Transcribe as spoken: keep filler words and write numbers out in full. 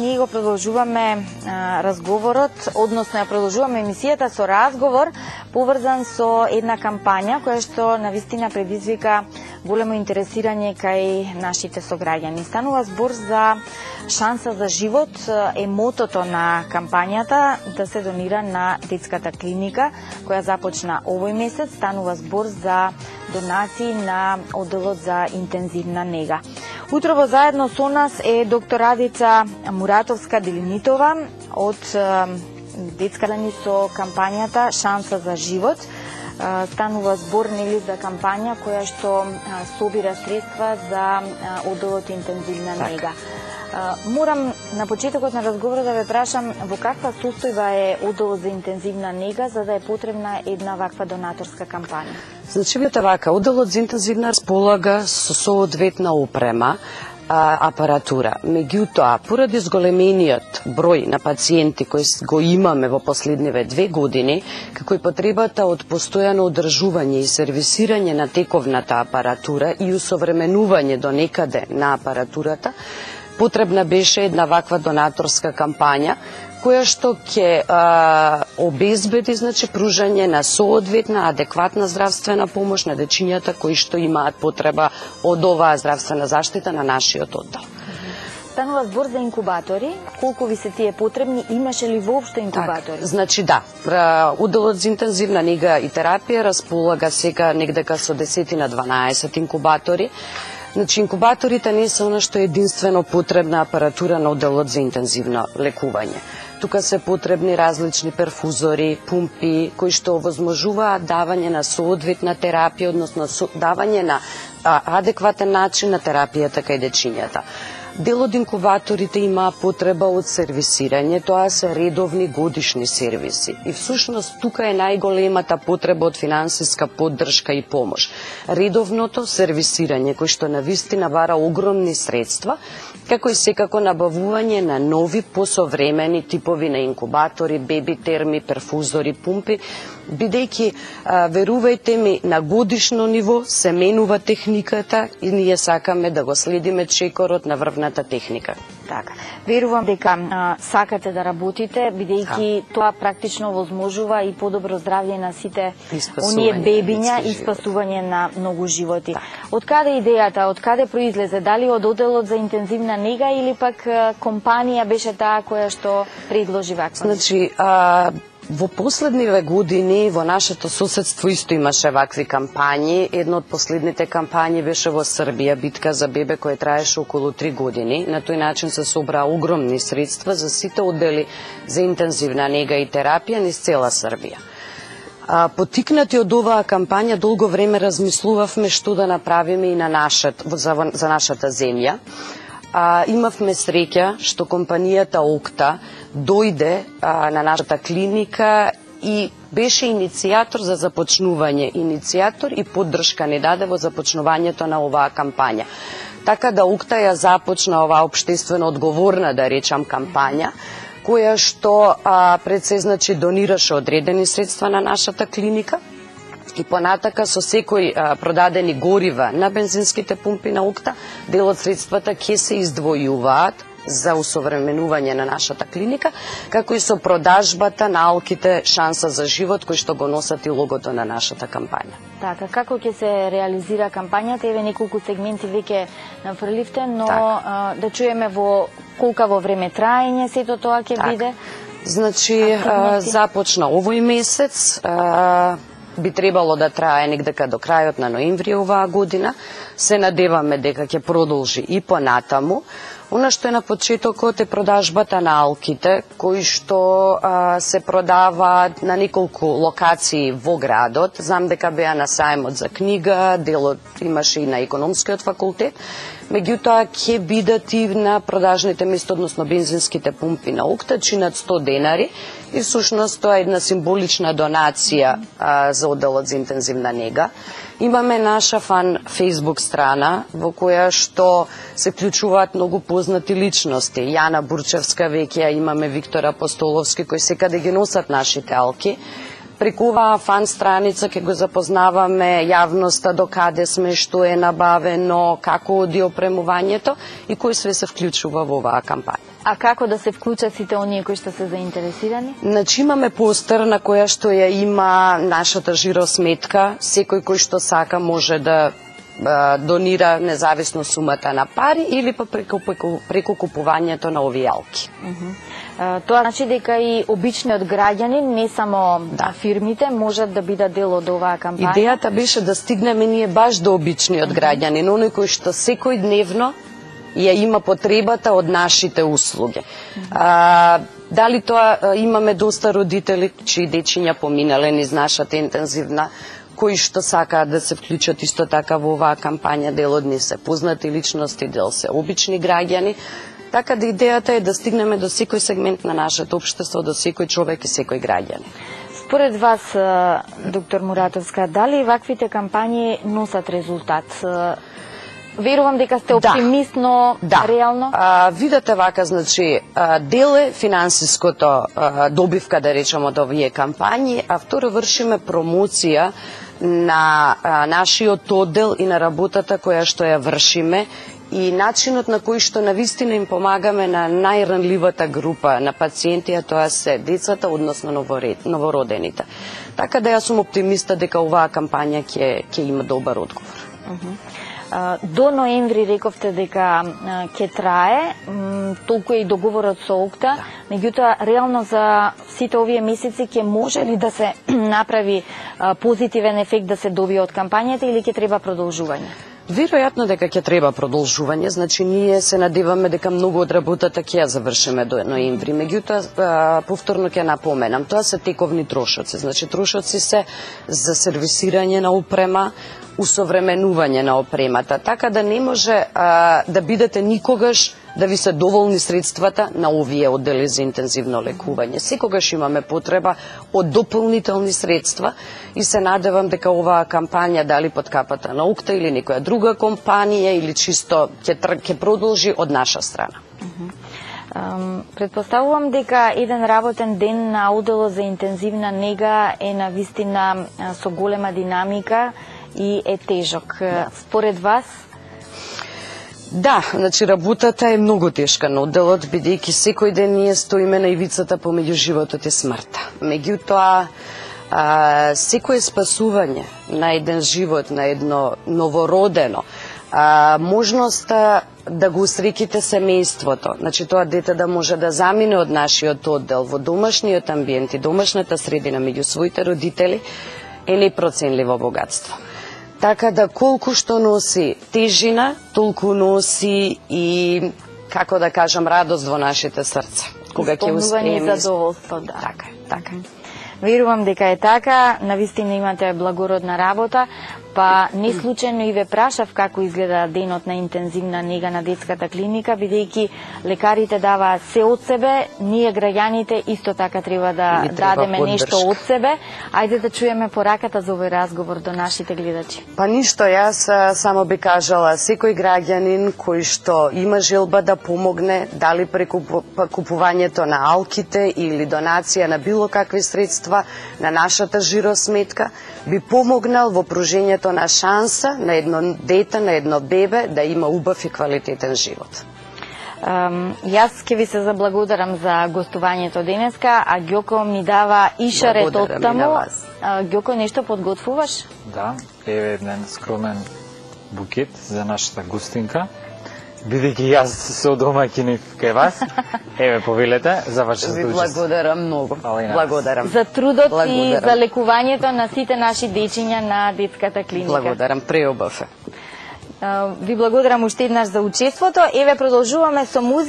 ние го продолжуваме а, разговорот, односно ја продолжуваме емисијата со разговор поврзан со една кампања која што навистина предизвика големо интересирање кај нашите сограѓани. Станува збор за шанса за живот, е мотото на кампањата да се донира на детската клиника која започна овој месец. Станува збор за донации на одделот за интензивна нега. Утрово заедно со нас е доктор Радица Муратовска-Делинитова од детска лани со кампањата Шанса за живот. Станува збор нели за кампања која што собира средства за одделот интензивна нега. Морам на почетокот на разговорот да ве прашам во каква состојба е одделот за интензивна нега за да е потребна една ваква донаторска кампања? Значи, видите вака, одделот за интензивна располага со соодветна опрема, а, апаратура. Меѓутоа, поради зголемениот број на пациенти кои го имаме во последниве две години, како и потребата од постојано одржување и сервисирање на тековната апаратура и усовременување до некаде на апаратурата, потребна беше една ваква донаторска кампања, која што ќе обезбеди значи пружање на соодветна адекватна здравствена помош на дечињата кои што имаат потреба од оваа здравствена заштита на нашиот оддел. Станува збор за инкубатори. Колку ви се тие потребни? Имаше ли воопшто инкубатори? Так, значи да, одделот за интензивна нега и терапија располага сега негдека со десетина дванаесет инкубатори. Значи, инкубаторите не се она што е единствено потребна апаратура на одделот за интензивно лекување. Тука се потребни различни перфузори, пумпи, кои што овозможуваат давање на соодветна терапија, односно давање на а, адекватен начин на терапијата кај дечињата. Дел од инкубаторите има потреба од сервисирање, тоа се редовни годишни сервиси. И всушност тука е најголемата потреба од финансиска поддршка и помош. Редовното сервисирање кој што навистина бара огромни средства, како и секако набавување на нови посовремени типови на инкубатори, беби терми, перфузори, пумпи, бидејќи верувајте ми на годишно ниво се менува техниката и ние сакаме да го следиме чекорот на врвната техника. Така. Верувам дека а, сакате да работите, бидејќи тоа практично возможува и подобро здравје на сите оние бебиња и спасување на многу животи. Так. Од каде идејата, од каде произлезе? Дали од одделот за интензивна нега или пак а, компанија беше таа која што предложи ваква? Значи, а... Во последниве години во нашето соседство исто имаше вакви кампањи. Една од последните кампањи беше во Србија, битка за бебе, која траеше околу три години. На тој начин се собра огромни средства за сите оддели за интензивна нега и терапија низ цела Србија. А, потикнати од оваа кампања, долго време размислувавме што да направиме и на нашат, за, за нашата земја. А, имавме среќа што компанијата Окта дојде а, на нашата клиника и беше иницијатор за започнување, иницијатор и поддршка не даде во започнувањето на оваа кампања. Така да Окта ја започна оваа општествено одговорна, да речам, кампања, која што а, пред се значи донираше одредени средства на нашата клиника, и понатака со секој а, продадени горива на бензинските пумпи на Окта, дел од средствата ќе се издвојуваат за усовременување на нашата клиника, како и со продажбата на алките Шанса за живот, кои што го носат и логото на нашата кампања. Така, како ќе се реализира кампањата? Еве неколку сегменти веќе нафрливте, но а, да чуеме во колка во време траење сето тоа ќе так. биде? Значи, а, започна овој месец, а, би требало да трае негдека до крајот на ноември оваа година. Се надеваме дека ќе продолжи и понатаму. Она што е на почетокот е продажбата на алките, кои што а, се продаваат на неколку локации во градот. Знам дека беа на сајмот за книга, делот имаше и на економскиот факултет. Меѓутоа ќе бидат и на продажните места, односно бензинските пумпи на Окта, чинат сто денари и всушност тоа е една символична донација а, за одделот за интензивна нега. Имаме наша фан Facebook страна во која што се вклучуваат многу познати личности. Јана Бурчевска веќе, имаме Виктор Апостоловски кои секаде ги носат нашите алки. преку оваа фан страница ќе го запознаваме јавноста до каде сме, што е набавено, како оди опремувањето и кој све се вклучува во оваа кампања. А како да се вклучат сите оние кои што се заинтересирани? Значи имаме постер на која што ја има нашата жиросметка, секој кој што сака може да а, донира независно сумата на пари или па преку, преку, преку купувањето на овие алки. Uh -huh. Тоа значи дека и обичниот граѓанин, не само да. фирмите, можат да бидат дел од оваа кампања? Идејата беше да стигнеме ние баш до обичниот uh -huh. граѓанин, оној кој што секој дневно ја има потребата од нашите услуги. Uh -huh. а, дали тоа а, имаме доста родители чии дечиња поминале низ нашата интензивна, кои што сакаат да се вклучат исто така во оваа кампања, дел од нив се познати личности, дел се обични граѓани. Така да идејата е да стигнеме до секој сегмент на нашето општество, до секој човек и секој граѓанин. Според вас, доктор Муратовска, дали ваквите кампањи носат резултат? Верувам дека сте оптимист, да. но да. реално? А, видете вака, значи, дел е финансиското а, добивка, да речем, од овие кампањи, а второ вршиме промоција на а, нашиот оддел и на работата која што ја вршиме и начинот на кој што навистина им помагаме на најранливата група на пациенти, а тоа се децата, односно новородените. Така да јас сум оптимиста дека оваа кампања ќе ќе има добар одговор. Uh -huh. До ноември рековте дека ќе трае, толку е и договорот со ОКТА, да. меѓутоа реално за сите овие месеци ќе може ли да се направи позитивен ефект да се добие од кампањата или ќе треба продолжување? Веројатно дека ќе треба продолжување, значи ние се надеваме дека многу од работата ќе ја завршиме до ноември. Меѓутоа, повторно ќе напоменам, тоа се тековни трошоци, значи трошоци се за сервисирање на опрема, усовременување на опремата, така да не може а, да бидете никогаш да ви се доволни средствата на овие оддели за интензивно лекување. Секогаш имаме потреба од дополнителни средства и се надевам дека оваа кампања, дали под капата на ОКТА или некоја друга компанија или чисто ќе ќе продолжи од наша страна. Uh -huh. um, предпоставувам дека еден работен ден на одделот за интензивна нега е на вистина со голема динамика и е тежок. Според вас? Да, значи работата е многу тешка на одделот, бидејќи секој ден ние стоиме на ивицата помеѓу животот и смртта. Меѓутоа, а, секое спасување на еден живот, на едно новородено, а, можноста да го усреките семејството, значи тоа дете да може да замине од нашиот оддел во домашниот амбиент и домашната средина меѓу своите родители, е непроценливо богатство. Така да колку што носи тежина, толку носи и, како да кажам, радост во нашите срца. Кога ќе успееме. Задоволство, да. Така е, така е. Верувам дека е така, навистина имате благородна работа, па не случајно и ве прашав како изгледа денот на интензивна нега на детската клиника, бидејќи лекарите даваат се од себе, ние граѓаните исто така треба да треба дадеме поддршка. Нешто од себе. Ајде да чуеме пораката за овој разговор до нашите гледачи. Па ништо, јас само би кажала, секој граѓанин кој што има желба да помогне, дали преку купувањето на алките или донација на било какви средства на нашата жиросметка, би помогнал во пружењето на шанса на едно дете, на едно бебе да има убав и квалитетен живот. Um, јас ќе ви се заблагодарам за гостувањето денеска, а Ѓоко ми дава и шарет од таму. Ѓоко, нешто подготвуваш? Да, еве еден скромен букет за нашата гостинка. Бидејќи јас се одомаќинив кај вас, еве повелете за вашето учество. Ви благодарам многу. Благодарам. За трудот благодарам. И за лекувањето на сите наши дечиња на детската клиника. Благодарам, преубав е. Ви благодарам уште еднаш за учеството. Еве продолжуваме со музика.